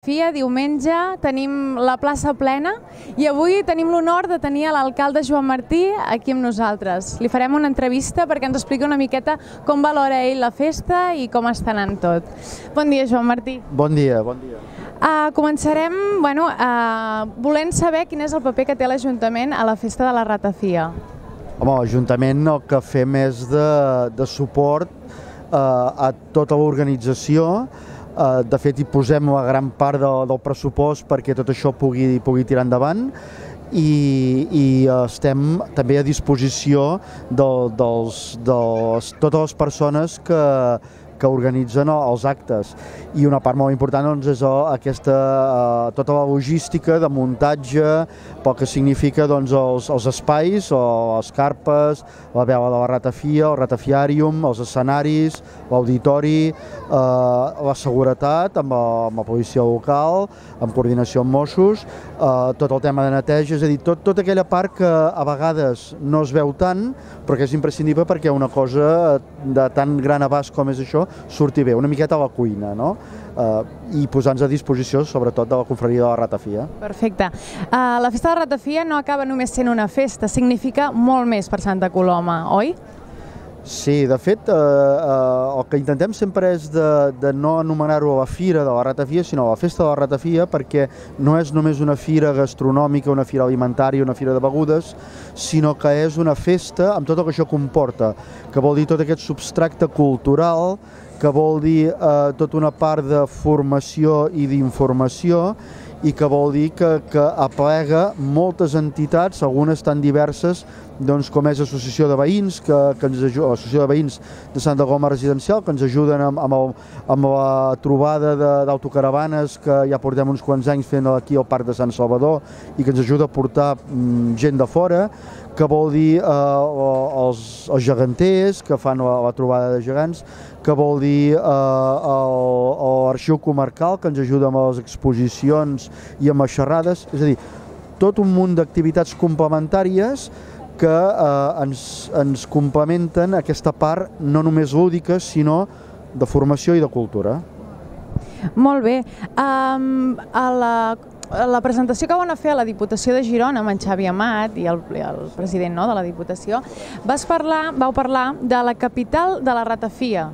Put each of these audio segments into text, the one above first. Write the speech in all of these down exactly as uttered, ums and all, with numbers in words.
Fia, diumenge, tenim la plaça plena i avui tenim l'honor de tenir l'alcalde Joan Martí aquí amb nosaltres. Li farem una entrevista perquè ens expliqui una miqueta com valora ell la festa i com està anant tot. Bon dia, Joan Martí. Bon dia, bon dia. Uh, començarem bueno, uh, volent saber quin és el paper que té l'Ajuntament a la festa de la Ratafia. Home, l'Ajuntament el que fem és de, de suport uh, a tota l'organització. Uh, de fet, hi posem la gran part de, del pressupost perquè tot això pugui, pugui tirar endavant i, i uh, estem també a disposició de, dels, dels, totes les persones que, que organitzen els actes. I una part molt important doncs, és aquesta, uh, tota la logística de muntatge, pel que significa doncs, els, els espais, o les carpes, la vela de la Ratafia, el ratafiàrium, els escenaris, l'auditori, eh, la seguretat amb la, amb la policia local, amb coordinació amb Mossos, eh, tot el tema de neteja, és a dir, tot, tota aquella part que a vegades no es veu tant, però que és imprescindible perquè una cosa de tan gran abast com és això surti bé, una miqueta a la cuina, no? Uh, i posar-nos a disposició sobretot de la confraria de la Ratafia. Perfecte. Uh, la festa de la Ratafia no acaba només sent una festa, significa molt més per Santa Coloma, oi? Sí, de fet, eh, eh, el que intentem sempre és de, de no anomenar-ho la Fira de la Ratafia, sinó la Festa de la Ratafia, perquè no és només una fira gastronòmica, una fira alimentària, una fira de begudes, sinó que és una festa amb tot el que això comporta, que vol dir tot aquest substracte cultural, que vol dir eh, tota una part de formació i d'informació, i que vol dir que, que aplega moltes entitats, algunes tan diverses doncs, com és l'Associació de Veïns, que, que ens ajuda, l'Associació de Veïns de Santa Coloma Residencial, que ens ajuden amb, amb, el, amb la trobada d'autocaravanes que ja portem uns quants anys fent aquí al Parc de Sant Salvador i que ens ajuda a portar mm, gent de fora, que vol dir eh, els, els geganters, que fan la, la trobada de gegants, que vol dir eh, l'Arxiu Comarcal, que ens ajuda amb les exposicions i amb les xerrades, és a dir, tot un munt d'activitats complementàries que eh, ens, ens complementen aquesta part no només lúdica, sinó de formació i de cultura. Molt bé. Um, a la, a la presentació que van fer a la Diputació de Girona amb en Xavi Amat i el, el president no, de la Diputació, vas parlar, vau parlar de la capital de la Ratafia.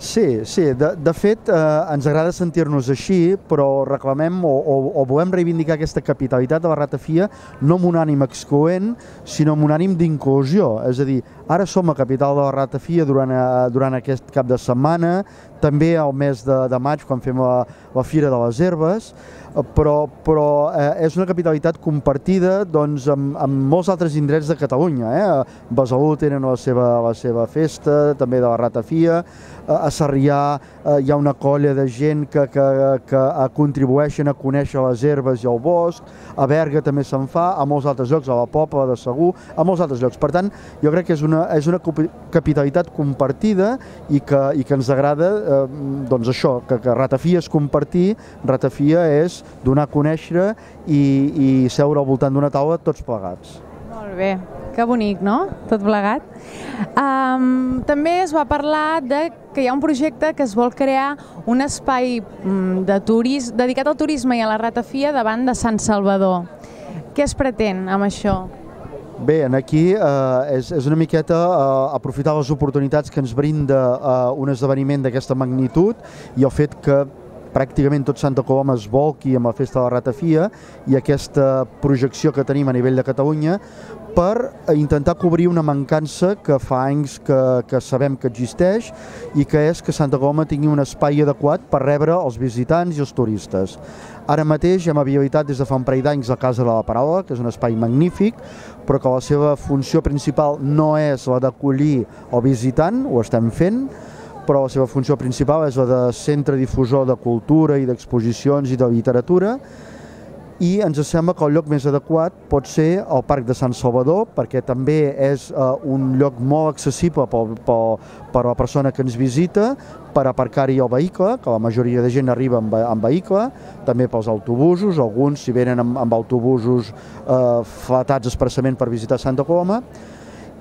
Sí, sí. De, de fet, eh, ens agrada sentir-nos així, però reclamem o, o, o volem reivindicar aquesta capitalitat de la Ratafia no amb un ànim excloent, sinó amb un ànim d'inclusió. És a dir, ara som a capital de la Ratafia durant, durant aquest cap de setmana, també al mes de, de maig, quan fem la, la Fira de les Herbes, però, però eh, és una capitalitat compartida doncs, amb, amb molts altres indrets de Catalunya. Eh? A Besalú tenen la seva, la seva festa, també de la Ratafia, a Sarrià eh, hi ha una colla de gent que, que, que contribueixen a conèixer les herbes i el bosc, a Berga també se'n fa, a molts altres llocs, a la Pobla de Segur, a molts altres llocs. Per tant, jo crec que és una, és una capitalitat compartida i que, i que ens agrada eh, doncs això, que, que Ratafia és compartir, Ratafia és donar a conèixer i, i seure al voltant d'una taula tots plegats. Molt bé, que bonic, no? Tot plegat. Um, també es va parlar de que hi ha un projecte que es vol crear un espai de turis, dedicat al turisme i a la Ratafia davant de Sant Salvador. Què es pretén amb això? Bé, aquí eh, és, és una miqueta eh, aprofitar les oportunitats que ens brinda eh, un esdeveniment d'aquesta magnitud i el fet que pràcticament tot Santa Coloma es volqui amb la Festa de la Ratafia i aquesta projecció que tenim a nivell de Catalunya per intentar cobrir una mancança que fa anys que, que sabem que existeix i que és que Santa Coloma tingui un espai adequat per rebre els visitants i els turistes. Ara mateix hem habilitat des de fa un parell d'anys la Casa de la Paraula, que és un espai magnífic, però que la seva funció principal no és la d'acollir el visitant, ho estem fent, però la seva funció principal és la de centre difusor de cultura i d'exposicions i de literatura, i ens sembla que el lloc més adequat pot ser el Parc de Sant Salvador, perquè també és eh, un lloc molt accessible per, per, per a la persona que ens visita, per aparcar-hi el vehicle, que la majoria de gent arriba amb, amb vehicle, també pels autobusos, alguns si venen amb, amb autobusos eh, flatats expressament per visitar Santa Coloma,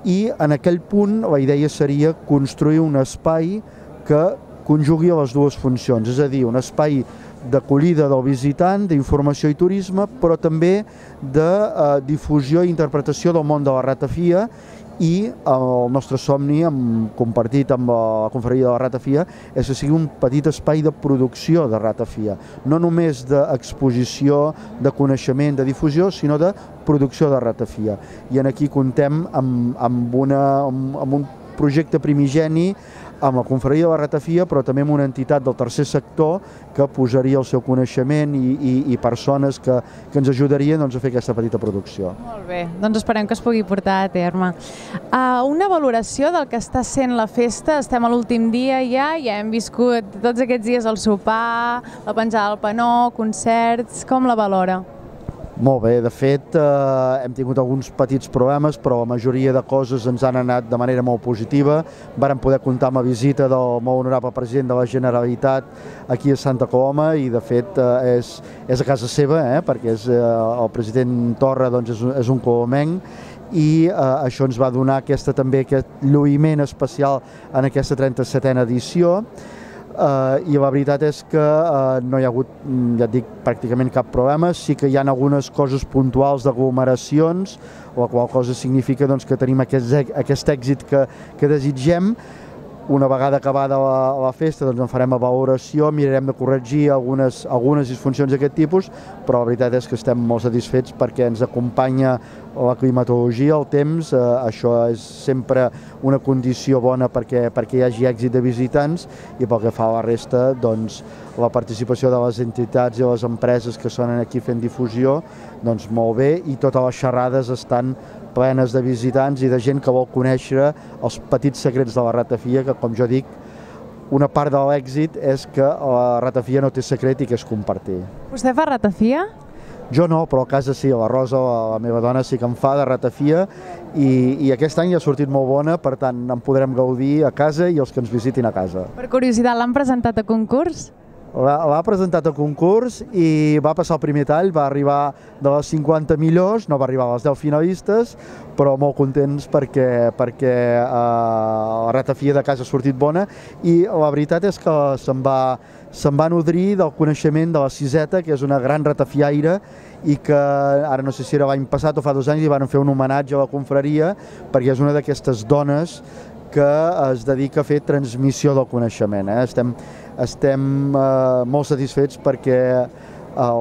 i en aquell punt la idea seria construir un espai que conjugui les dues funcions, és a dir, un espai d'acollida del visitant, d'informació i turisme, però també de eh, difusió i interpretació del món de la ratafia, i el nostre somni, amb, compartit amb la confraria de la ratafia, és que sigui un petit espai de producció de ratafia, no només d'exposició, de coneixement, de difusió, sinó de producció de ratafia. I en aquí contem amb, amb, una, amb, amb un projecte primigeni amb la confraria de la ratafia, però també amb una entitat del tercer sector que posaria el seu coneixement i, i, i persones que, que ens ajudarien doncs, a fer aquesta petita producció. Molt bé, doncs esperem que es pugui portar a terme. Uh, una valoració del que està sent la festa, estem a l'últim dia ja, ja hem viscut tots aquests dies el sopar, la penjada del panó, concerts, com la valora? Molt bé, de fet eh, hem tingut alguns petits problemes, però la majoria de coses ens han anat de manera molt positiva. Vàrem poder comptar amb la visita del molt honorable president de la Generalitat aquí a Santa Coloma i de fet eh, és, és a casa seva, eh, perquè és, eh, el president Torra doncs, és, és un colomenc i eh, això ens va donar aquesta, també aquest lluïment especial en aquesta trenta-setena edició. Uh, i la veritat és que uh, no hi ha hagut, ja et dic, pràcticament cap problema. Sí que hi ha algunes coses puntuals d'aglomeracions, la qual cosa significa doncs, que tenim aquest, aquest èxit que, que desitgem. Una vegada acabada la, la festa doncs en farem la valoració, mirarem de corregir algunes, algunes disfuncions d'aquest tipus, però la veritat és que estem molt satisfets perquè ens acompanya la climatologia, el temps, eh, això és sempre una condició bona perquè, perquè hi hagi èxit de visitants i pel que fa a la resta, doncs, la participació de les entitats i les empreses que són aquí fent difusió, doncs molt bé, i totes les xerrades estan plenes de visitants i de gent que vol conèixer els petits secrets de la ratafia, que com jo dic, una part de l'èxit és que la ratafia no té secret i que és compartir. Vostè fa ratafia? Jo no, però a casa sí, la Rosa, la meva dona, sí que en fa de ratafia i, i aquest any ha sortit molt bona, per tant en podrem gaudir a casa i els que ens visitin a casa. Per curiositat, l'han presentat a concurs? L'ha presentat a concurs i va passar el primer tall, va arribar de les cinquanta millors, no va arribar a les deu finalistes, però molt contents perquè, perquè eh, la ratafia de casa ha sortit bona i la veritat és que se'n va, se'n va nodrir del coneixement de la Siseta, que és una gran ratafiaire i que ara no sé si era l'any passat o fa dos anys li van fer un homenatge a la confraria perquè és una d'aquestes dones que es dedica a fer transmissió del coneixement. Eh? Estem, estem eh, molt satisfets perquè eh,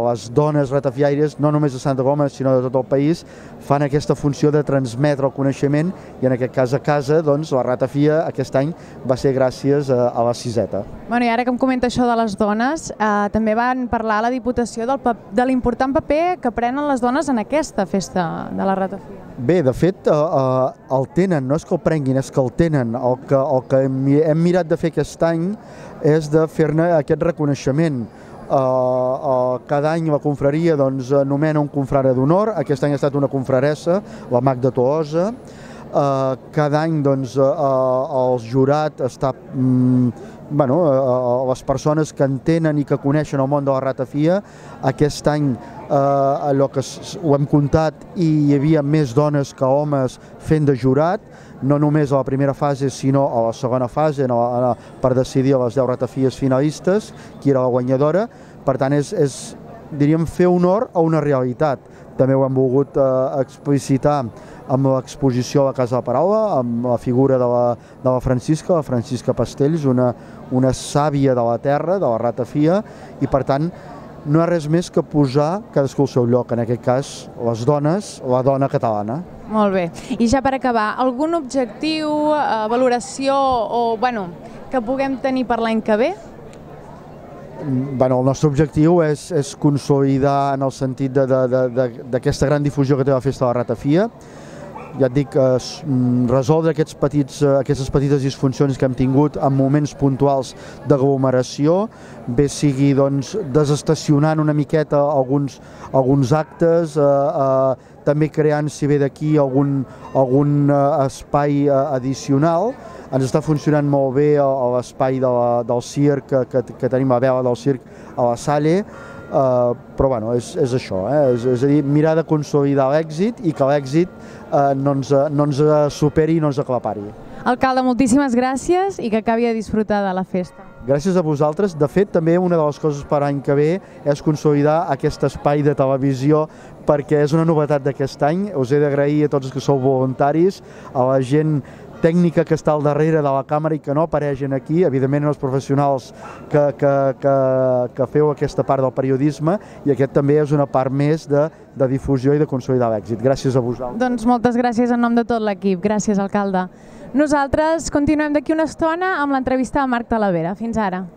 les dones ratafiaires, no només de Santa Coloma, sinó de tot el país, fan aquesta funció de transmetre el coneixement i en aquest cas a casa, doncs, la ratafia aquest any va ser gràcies a, a la Siseta. Bueno, i ara que em comenta això de les dones, eh, també van parlar a la Diputació del de l'important paper que prenen les dones en aquesta festa de la ratafia. Bé, de fet, eh, eh, el tenen, no és que el prenguin, és que el tenen. El que, el que hem, hem mirat de fer aquest any és de fer-ne aquest reconeixement. Uh, uh, cada any la confraria doncs, nomena un confrare d'honor, aquest any ha estat una confraressa, la Magda Tolosa. Uh, cada any doncs, uh, el jurat està, um, bueno, uh, les persones que entenen i que coneixen el món de la ratafia. Aquest any uh, allò que ho hem comptat i hi havia més dones que homes fent de jurat, no només a la primera fase sinó a la segona fase a la, a, per decidir a les deu ratafies finalistes qui era la guanyadora. Per tant, és, és diríem, fer honor a una realitat. També ho hem volgut eh, explicitar amb l'exposició a la Casa de la Paraula, amb la figura de la, de la Francisca, la Francisca Pastells, una, una sàvia de la terra, de la ratafia, i per tant no hi ha res més que posar cadascú al seu lloc, en aquest cas les dones, la dona catalana. Molt bé. I ja per acabar, algun objectiu, eh, valoració o, bueno, que puguem tenir per l'any que ve? Bueno, el nostre objectiu és, és consolidar en el sentit d'aquesta gran difusió que té la festa de la ratafia. Ja et dic, eh, resoldre aquests petits, aquestes petites disfuncions que hem tingut en moments puntuals d'aglomeració, bé sigui doncs, desestacionant una miqueta alguns, alguns actes, eh, eh, també creant, si ve d'aquí, algun, algun eh, espai eh, addicional. Ens està funcionant molt bé l'espai de del circ, que, que, que tenim la vela del circ a la Salle, Uh, però bueno, és, és això, eh? és, és a dir, mirar de consolidar l'èxit i que l'èxit uh, no, ens, no ens superi i no ens aclapari. Alcalde, moltíssimes gràcies i que acabi de disfrutar de la festa. Gràcies a vosaltres. De fet, també una de les coses per l'any que ve és consolidar aquest espai de televisió perquè és una novetat d'aquest any. Us he d'agrair a tots els que sou voluntaris, a la gent tècnica que està al darrere de la càmera i que no apareixen aquí, evidentment els professionals que, que, que, que feu aquesta part del periodisme, i aquest també és una part més de, de difusió i de consolidar l'èxit. Gràcies a vosaltres. Doncs moltes gràcies en nom de tot l'equip. Gràcies, alcalde. Nosaltres continuem d'aquí una estona amb l'entrevista a Marc Talavera. Fins ara.